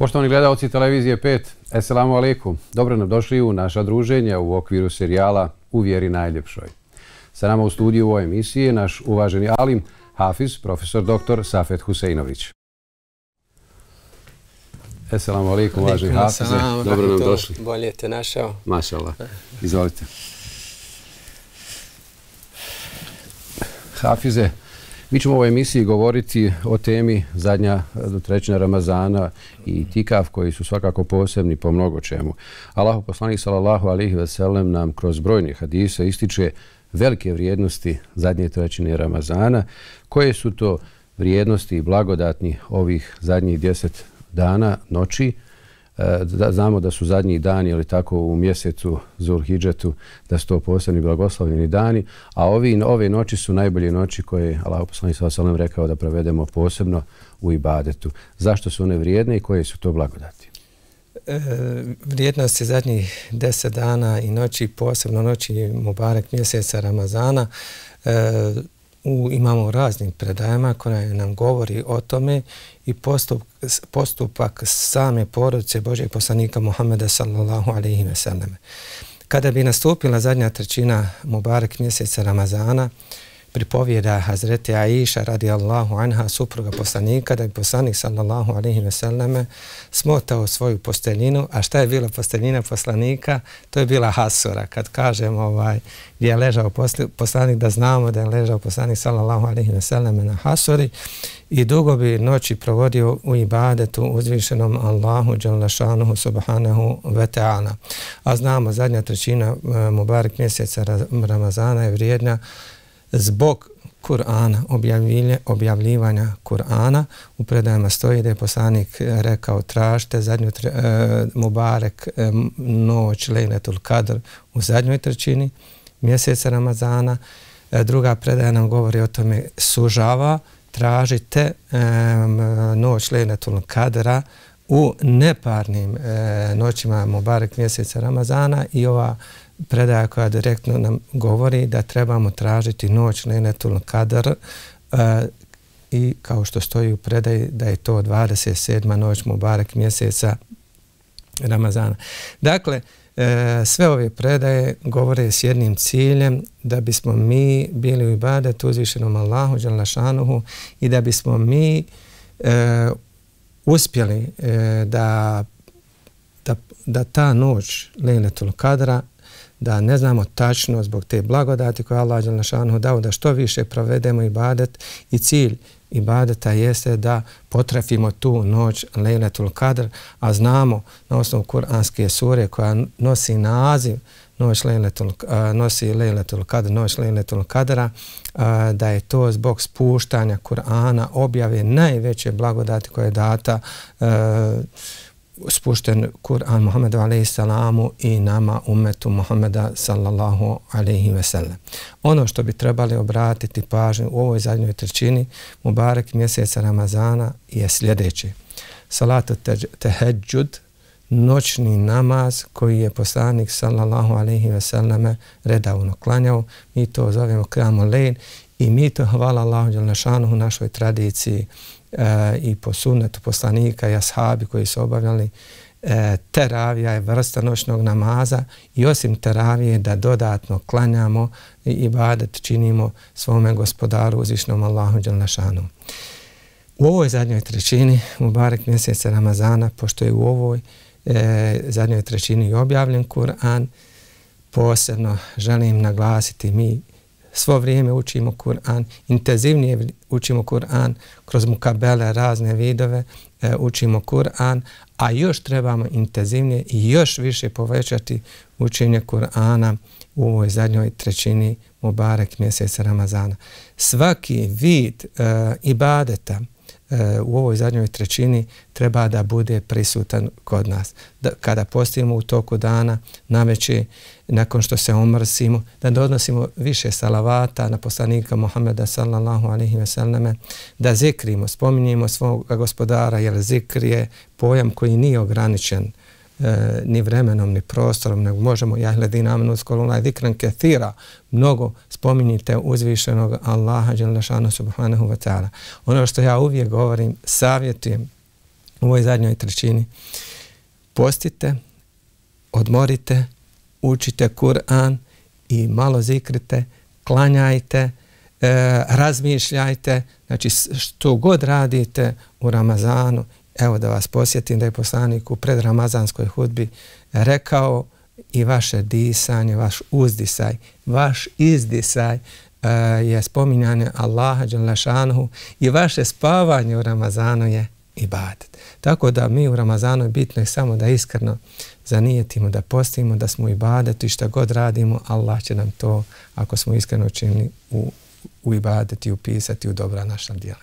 Poštovani gledalci televizije 5, Esselamu alaikum. Dobro nam došli u naša druženja u okviru serijala U vjeri najljepšoj. Sa nama u studiju u ovoj emisiji je naš uvaženi alim, hafiz, profesor dr. Safet Huseinović. Esselamu alaikum, uvaženi hafize. Dobro nam došli. Bolje te našao. Mašallah. Izvolite. Hafize, mi ćemo u ovoj emisiji govoriti o temi zadnja trećina Ramazana i tikaf koji su svakako posebni po mnogo čemu. Allahu poslanik sallallahu alejhi ve sellem nam kroz brojne hadise ističe velike vrijednosti zadnje trećine Ramazana. Koje su to vrijednosti i blagodatni ovih zadnjih 10 dana, noći? Znamo da su zadnji dani, ali tako u mjesecu Zulhidžetu, da su to posebni blagoslovljeni dani, a ove noći su najbolje noći koje Allahu poslanik sallallahu alejhi ve sellem rekao da provedemo posebno u ibadetu. Zašto su one vrijedne i koje su to blagodati? Vrijednosti zadnjih 10 dana i noći, posebno noći Mubarek mjeseca Ramazana, imamo raznim predajama koje nam govori o tome i postupak same porodice Božjeg poslanika Muhammeda sallallahu alejhi ve selleme. Kada bi nastupila zadnja trećina Mubarek mjeseca Ramazana, pripovijeda Hazreti Aisha radijallahu anha, supruga poslanika, da bi poslanik sallallahu alejhi ve selleme smotao svoju posteljinu. A šta je bila posteljina poslanika? To je bila hasura. Kad kažemo gdje je ležao poslanik, da znamo da je ležao poslanik sallallahu alejhi ve selleme na hasuri i dugo bi noći provodio u ibadetu uzvišenom Allahu dželle šanuhu subhanahu ve ta'ala. A znamo zadnja trećina Mubarek mjeseca Ramazana je vrijedna zbog Kur'ana, objavljivanja Kur'ana. U predajama stoji da je poslanik rekao tražite zadnju Mubarek noć Lejletul Kadr u zadnjoj trećini mjeseca Ramazana. Druga predaja nam govori o tome, sužava, tražite noć Lejletul Kadra u neparnim noćima Mubarek mjeseca Ramazana i ova predaja koja direktno nam govori da trebamo tražiti noć Lejletul Kadr i kao što stoji u predaji da je to 27. noć Mubarek mjeseca Ramazana. Dakle, sve ove predaje govore s jednim ciljem da bismo mi bili u ibadetu uzvišenom Allahu dželle šanuhu i da bismo mi uspjeli da ta noć Lejletul Kadra, da ne znamo tačno zbog te blagodati koje Allah dželle šanuhu dao da što više provedemo ibadet i cilj ibadeta jeste da potrafimo tu noć Lejletul Kadr, a znamo na osnovu kuranske sure koja nosi naziv nosi Lejletul Kadr, noć Lejletul Kadra, da je to zbog spuštanja Kur'ana, objave najveće blagodati koje je data spušten Kur'an Muhammedu alejhi salamu i nama ummetu Muhammeda sallallahu alejhi ve sellem. Ono što bi trebali obratiti pažnju u ovoj zadnjoj trećini Mubarek mjeseca Ramazana je sljedeće. Salatu teheđud, noćni namaz koji je poslanik sallallahu alejhi ve selleme redovno klanjao. Mi to zovemo Qiyamul Lejl i mi to, hvala Allahu dželle šanuhu, našoj tradiciji i po sunnetu poslanika i ashabi koji su obavljali, teravija je vrsta noćnog namaza i osim teravije da dodatno klanjamo i ibadet činimo svome gospodaru uzvišenom Allahu dželle šanuhu. U ovoj zadnjoj trećini Mubarek mjeseca Ramazana, pošto je u ovoj zadnjoj trećini objavljen Kur'an, posebno želim naglasiti, mi svo vrijeme učimo Kur'an, intenzivnije učimo Kur'an, kroz mukabele, razne vidove učimo Kur'an, a još trebamo intenzivnije i još više povećati učenje Kur'ana u ovoj zadnjoj trećini Mubarek mjeseca Ramazana. Svaki vid ibadeta u ovoj zadnjoj trećini treba da bude prisutan kod nas. Kada postimo u toku dana, navečer, nakon što se omrsimo, da donosimo više salavata na poslanika Muhammeda sallallahu alejhi ve selleme, da zikrimo, spominjemo svog gospodara, jer zikr je pojam koji nije ograničen ni vremenom, ni prostorom, nego možemo, ja hledina amenu skolunaj zikran kethira, mnogo spominjite uzvišenog Allaha dželle šanuhu subhanahu wa ta'ala. Ono što ja uvijek govorim, savjetujem u ovoj zadnjoj trećini. Postite, odmorite, učite Kur'an i malo zikrite, klanjajte, razmišljajte, znači što god radite u Ramazanu. Evo da vas posjetim da je poslanik u predramazanskoj hudbi rekao i vaše disanje, vaš uzdisaj, vaš izdisaj je spominjanje Allaha dželle šanehu i vaše spavanje u Ramazanu je ibadet. Tako da mi u Ramazanu je bitno samo da iskreno zanijetimo, da postimo, da smo u ibadetu i šta god radimo, Allah će nam to, ako smo iskreno činili, u ibadet i upisati u dobra naša djela.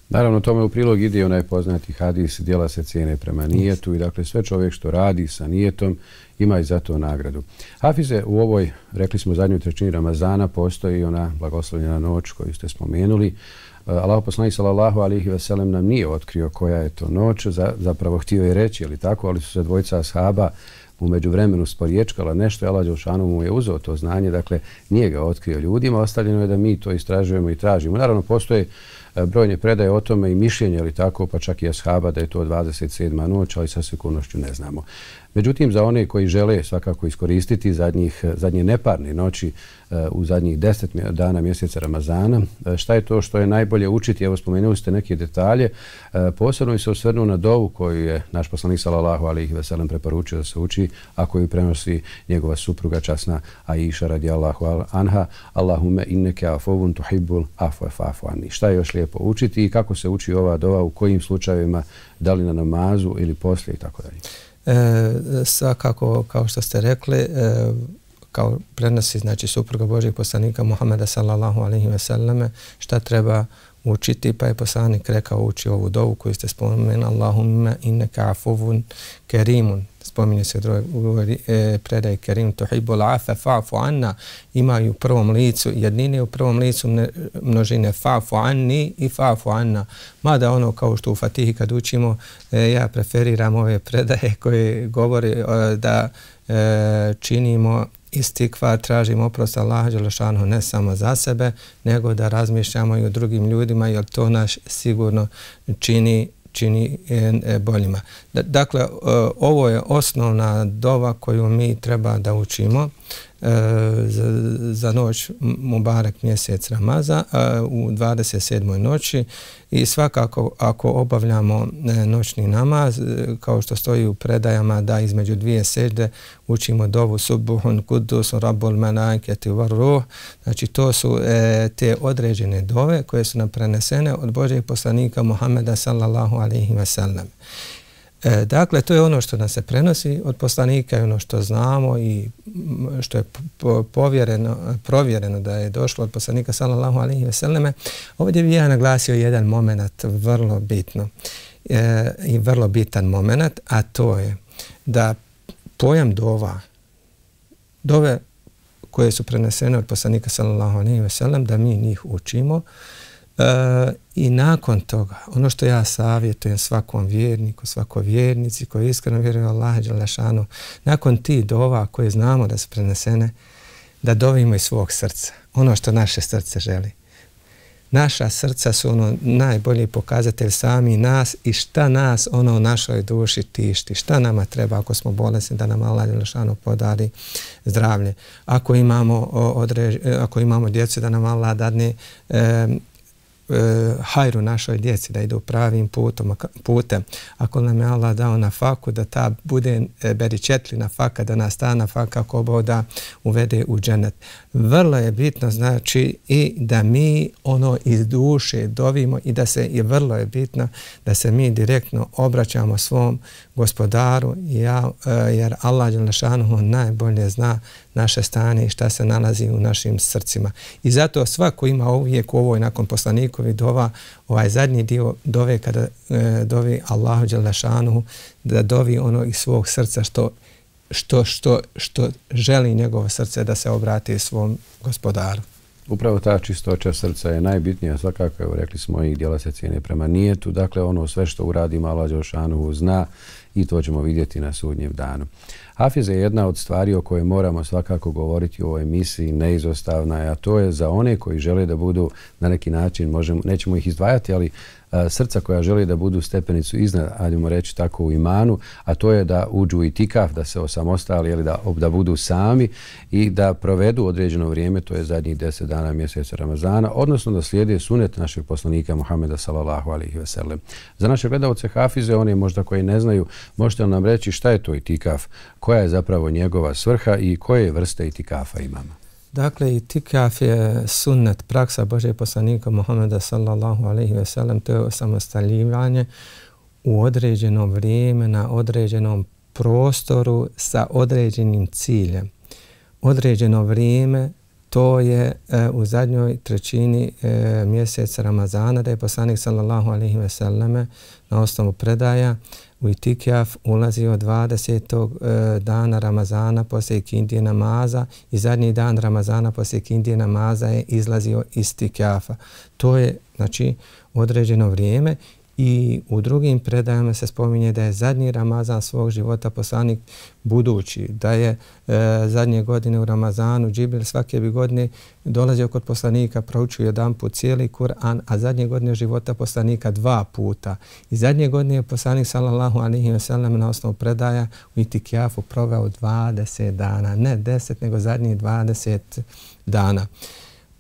Naravno, tome u prilog ide onaj poznati hadis, djela se cijene prema nijetu i dakle sve čovjek što radi sa nijetom ima i za to nagradu. Hafize, u ovoj, rekli smo, zadnjoj trećini Ramazana postoji ona blagoslovljena noć koju ste spomenuli. Allahov poslanik sallallahu alejhi ve sellem nam nije otkrio koja je to noć, zapravo htio je reći, ali tako, ali su se dvojica ashaba u međuvremenu sporiječkala nešto, Allah dželešanu mu je uzeo to znanje, dakle nije ga otkrio ljudima, ostavljeno je da mi to istražujemo i tražimo. Naravno, postoje brojne predaje o tome i mišljenje, ali tako, pa čak i ashaba da je to 27. noć, ali sa sigurnošću ne znamo. Međutim, za one koji žele svakako iskoristiti zadnje neparne noći u zadnjih 10 dana mjeseca Ramazana, šta je to što je najbolje učiti? Evo, spomenuli ste neke detalje. Posebno se osvrnuo na dovu koju je naš poslanik sallallahu alejhi ve sellem preporučio da se uči, a koju prenosi njegova supruga časna Aisha radijallahu anha: Allahumme inneke afuvun tuhibbul afwa fa'fu anni. Šta je još lijepo učiti i kako se uči ova dova, u kojim slučajevima, da li na namazu ili poslije i tako dalje? Svakako, kao što ste rekli, kao prenosi, znači, supruga Božjeg poslanika Muhameda sallallahu alejhi ve selleme, šta treba učiti, pa je poslanik rekao uči ovu dovu koju ste spomenuli: Allahumme inneka afuvun kerimun. Spominje se u predaji kerim tuhibbul afwa fa'fu anna. Imaju u prvom licu jednine, u prvom licu množine fa'fu anni i fa'fu anna. Mada ono, kao što u Fatihi kad učimo, ja preferiram ove predaje koje govore da činimo istikvar, tražimo oprost Allaha dželle šanehu ne samo za sebe, nego da razmišljamo i o drugim ljudima, jer to nas sigurno čini boljima. Dakle, ovo je osnovna dova koju mi treba da učimo za noć Mubarek mjesec Ramazan u 27. noći i svakako ako obavljamo noćni namaz, kao što stoji u predajama da između dvije sežde učimo dovu Subuhun Kudus Rabbul Malaikati war Ruh. Znači to su te određene dove koje su nam prenesene od Božjeg poslanika Muhameda sallallahu alejhi ve sellem. Dakle, to je ono što nas se prenosi od poslanika i ono što znamo i što je provjereno da je došlo od poslanika sallallahu alejhi ve selleme. Ovdje bih ja naglasio jedan moment vrlo bitno i vrlo bitan moment, a to je da pojam dove koje su prenesene od poslanika sallallahu alejhi ve sellem, da mi njih učimo. I nakon toga, ono što ja savjetujem svakom vjerniku, svakoj vjernici koji iskreno vjeruje u Allaha dželle šanehu, nakon tih dova koje znamo da su prenesene, da dovimo iz svog srca, ono što naše srce želi. Naša srca su ono najbolji pokazatelj sami nas i šta nas ono u našoj duši tišti, šta nama treba ako smo bolesni da nam Allah dželle šanehu podari zdravlje. Ako imamo djecu da nam Allah dadne hajru našoj djeci, da idu pravim putem. Ako nam je Allah dao na faku, da ta bude beričetlina faka, da nas ta na faka ako Bog da uvede u dženet. Vrlo je bitno, znači, i da mi ono iz duše dovimo i da se, i vrlo je bitno da se mi direktno obraćamo svom gospodaru, jer Allah dželle šanehu najbolje zna naše stanje i šta se nalazi u našim srcima. I zato svako ima uvijek u ovoj nakon poslanikovi dova, ovaj zadnji dio dove kada dovi Allahu dželle šanehu, da dovi ono iz svog srca što želi njegovo srce da se obrati svom gospodaru. Upravo ta čistoća srca je najbitnija, svakako, evo, rekli smo, i djela se cijene prema nijetu, dakle ono sve što uradimo Allah dželle šanehu zna i to ćemo vidjeti na sudnjem danu. Hafize je jedna od stvari o kojoj moramo svakako govoriti u ovoj emisiji, neizostavna je, a to je za one koji žele da budu na neki način, nećemo ih izdvajati, ali srca koja želi da budu stepenicu iznad, ajdemo reći tako, u imanu, a to je da uđu u itikaf, da se osamostali ili da budu sami i da provedu određeno vrijeme, to je zadnjih 10 dana mjeseca Ramazana, odnosno da slijede sunet našeg poslanika Muhameda sallallahu alejhi ve sellem. Za naše gledaoce hafize, oni možda koji ne znaju, možete li nam reći šta je to itikaf, koja je zapravo njegova svrha i koje vrste itikafa imamo? Dakle, itikaf je sunnet, praksa Božeg poslanika Muhameda sallallahu alejhi ve sellem, to je osamostaljivanje u određeno vrijeme, na određenom prostoru sa određenim ciljem. Određeno vrijeme, to je u zadnjoj trećini mjeseca Ramazana, da je poslanik sallallahu alejhi ve selleme na osnovu predaja u itikaf ulazio 20. dana Ramazana poslije ikindije namaza i zadnji dan Ramazana poslije ikindije namaza je izlazio iz itikafa. To je znači određeno vrijeme. I u drugim predajama se spominje da je zadnji Ramazan svog života poslanik budući, da je zadnje godine u Ramazanu Džibril svake bi godine dolazio kod poslanika, proučio jedan put cijeli Kur'an, a zadnje godine života poslanika 2 puta. I zadnje godine je poslanik sallallahu alejhi ve sellem na osnovu predaja u itikafu proveo 20 dana, ne 10 nego zadnjih 20 dana.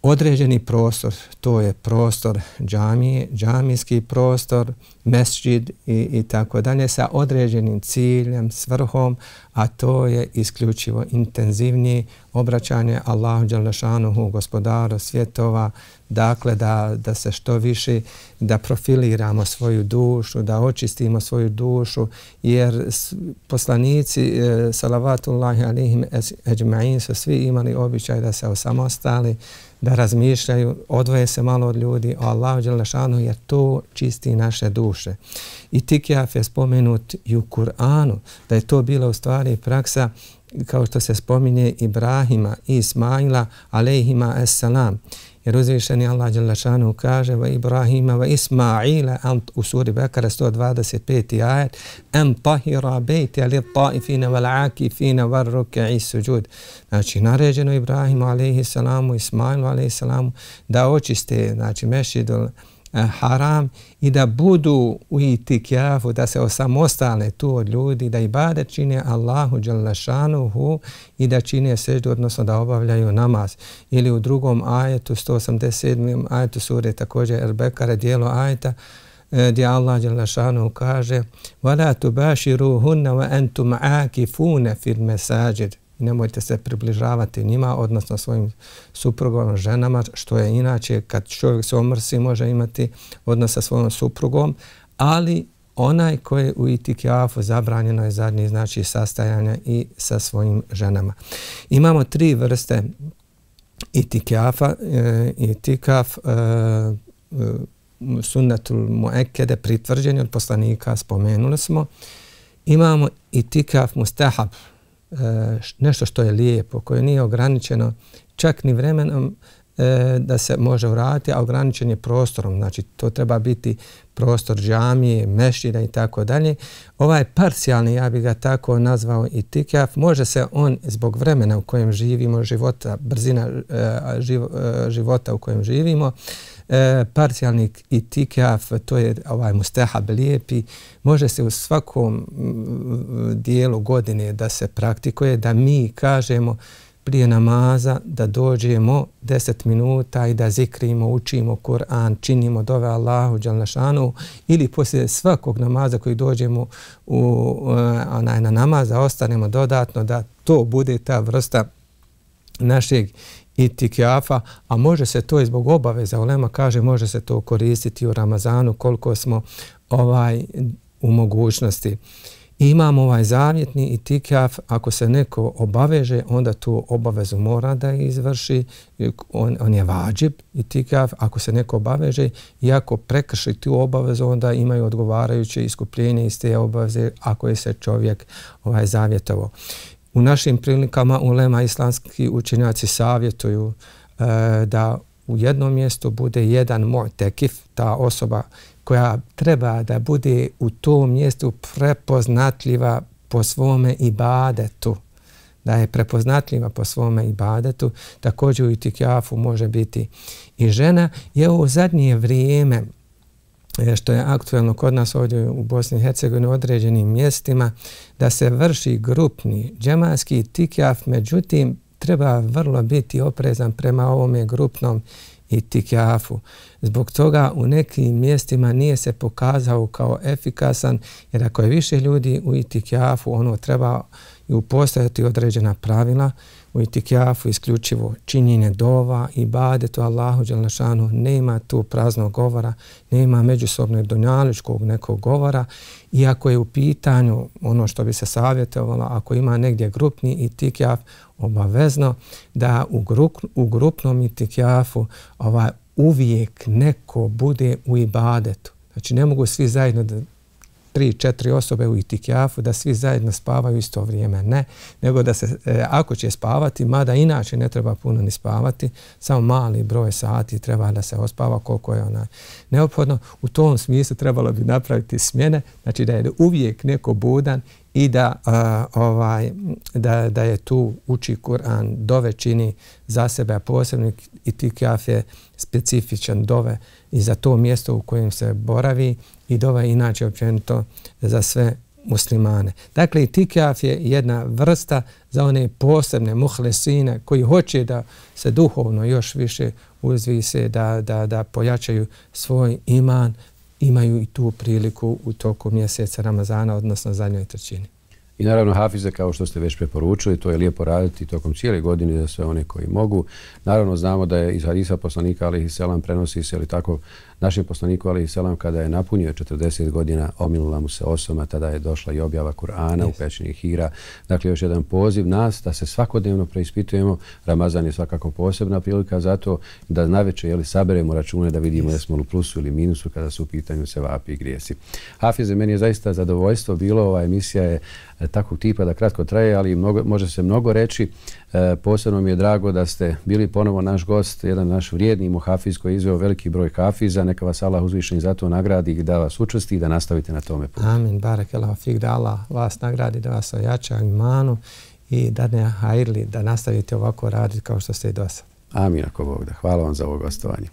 Određeni prostor, to je prostor džamije, džamijski prostor, mesdžid i tako dalje, sa određenim ciljem, svrhom, a to je isključivo intenzivnije obraćanje Allahu dželle šanuhu, gospodaru svjetova, dakle da se što više, da profiliramo svoju dušu, da očistimo svoju dušu, jer poslanici salavatullahi alejhim ecmaîn su svi imali običaj da se osamostali, da razmišljaju, odvoje se malo od ljudi o Allahu dželle šanuhu, jer to čisti naše duše. Itikaf je spomenut i u Kur'anu, da je to bila u stvari praksa, kao što se spominje Ibrahima i Ismaila alejhima esselam. Jer uzvišeni Allah dželle šanuhu kaže va Ibrahima va Ismaila u suri Bekara 125. ajet an tahira bejti lit taifina wal akifina wal ruk'i sujud. Znači naređeno Ibrahimu alejhi selamu, Ismailu alejhi selamu da očiste znači mešidul haram i da budu u itikafu, da se osamostale tu od ljudi, da ibadet čine Allahu dželle šanuhu i da čine seždu, odnosno da obavljaju namaz. Ili u drugom ajetu, 187. ajetu sure također El-Bekare, dijelo ajeta, gdje Allah dželle šanuhu kaže وَلَا تُبَاشِرُوهُنَّ وَأَنْتُمْ عَاكِفُونَ فِي الْمَسَاجِدِ. Nemojte se približavati njima, odnosno svojim suprugom, ženama, što je inače kad čovjek se omrsi može imati odnos sa svojom suprugom, ali onaj koji je u itikafu zabranjeno je zadnji, znači sastajanja i sa svojim ženama. Imamo 3 vrste itikafa. Itikaf sunnetul muekede, pritvrđeni od poslanika, spomenuli smo. Imamo itikaf mustahab, nešto što je lijepo, koje nije ograničeno čak ni vremenom da se može uraditi, a ograničen je prostorom. Znači to treba biti prostor džamije, mešćida i tako dalje. Ovaj parcijalni, ja bih ga tako nazvao itikaf, može se on zbog vremena u kojem živimo, života, brzina života u kojem živimo, parcijalni itikaf, to je ovaj mustahab lijepi, može se u svakom dijelu godine da se praktikuje, da mi kažemo prije namaza da dođemo 10 minuta i da zikrimo, učimo Kur'an, činimo dove Allahu dželle šanuhu, ili poslije svakog namaza koji dođemo na namaz da ostanemo dodatno, da to bude ta vrsta našeg itikafa, a može se to i zbog obaveza. Ulema kaže može se to koristiti u Ramazanu koliko smo u mogućnosti. Imamo ovaj zavjetni itikaf, ako se neko obaveže, onda tu obavezu mora da izvrši, on je vađib itikaf, ako se neko obaveže i ako prekrši tu obavezu, onda imaju odgovarajuće iskupljenje iz te obaveze ako je se čovjek zavjetovo. U našim prilikama ulema islamski učenjaci savjetuju da u jednom mjestu bude jedan mu'tekif, ta osoba koja treba da bude u tom mjestu prepoznatljiva po svome ibadetu. Da je prepoznatljiva po svome ibadetu. Također u itikafu može biti i žena. Je u zadnje vrijeme što je aktuelno kod nas ovdje u Bosni i Hercegovini u određenim mjestima, da se vrši grupni džematski itikaf, međutim treba vrlo biti oprezan prema ovome grupnom itikafu. Zbog toga u nekim mjestima nije se pokazao kao efikasan, jer ako je više ljudi u itikafu, ono treba i upostojati određena pravila. U itikafu isključivo činjenje dova, ibadetu Allahu dželle šanu, nema tu praznog govora, nema međusobnog dunjaličkog nekog govora. I ako je u pitanju ono što bi se savjetovalo, ako ima negdje grupni itikaf, obavezno da u grupnom itikafu uvijek neko bude u ibadetu. Znači ne mogu svi zajedno 3-4 osobe u itikafu da svi zajedno spavaju isto vrijeme. Ne, nego da se, ako će spavati, mada inače ne treba puno ni spavati, samo mali broj sati treba da se ospava koliko je neophodno. U tom smislu trebalo bi napraviti smjene, znači da je uvijek neko budan i da je tu uči Kur'an, dove čini za sebe, a posebno itikaf je specifičan dove i za to mjesto u kojem se boravi i dova inače općenito za sve muslimane. Dakle, itikaf je jedna vrsta za one posebne muhlesine koji hoće da se duhovno još više uzvise, da pojačaju svoj iman, imaju i tu priliku u toku mjeseca Ramazana, odnosno zadnjoj trećini. I naravno hafize, kao što ste već preporučili, to je lijepo raditi tokom cijele godine za sve one koji mogu. Naravno znamo da je iz hadisa poslanika alejhiselam prenosi se, ili tako, našem poslaniku alejhiselam kada je napunio 40 godina, omilila mu se osama, tada je došla i objava Kur'ana u pećini Hira. Dakle, još jedan poziv nas da se svakodnevno preispitujemo. Ramazan je svakako posebna prilika zato da navečer saberemo račune da vidimo da smo u plusu ili minusu kada su u pitanju sevapi i grijesi. Hafize, meni je zaista zadovoljstvo bilo. Ova emisija je takvog tipa da kratko traje, ali može se mnogo reći. Posebno mi je drago da ste bili ponovo naš gost, jedan naš vrijedni muhafiz koji je izveo veliki broj hafiza. Neka vas Allah uzvišeni za to nagradi i da vas učvrsti i da nastavite na tome putu. Amin, barakallahu fik, da Allah vas nagradi, da vas ojača imanu i da ne hajrli, da nastavite ovako raditi kao što ste i do sad. Amin, ako Bog da. Hvala vam za ovo gostovanje.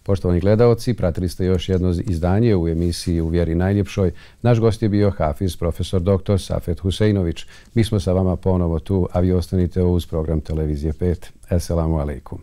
Poštovani gledaoci, pratili ste još jedno izdanje u emisiji U vjeri najljepšoj. Naš gost je bio hafiz, profesor dr. Safet Huseinović. Mi smo sa vama ponovo tu, a vi ostanite uz program Televizije 5. Esselamu alaikum.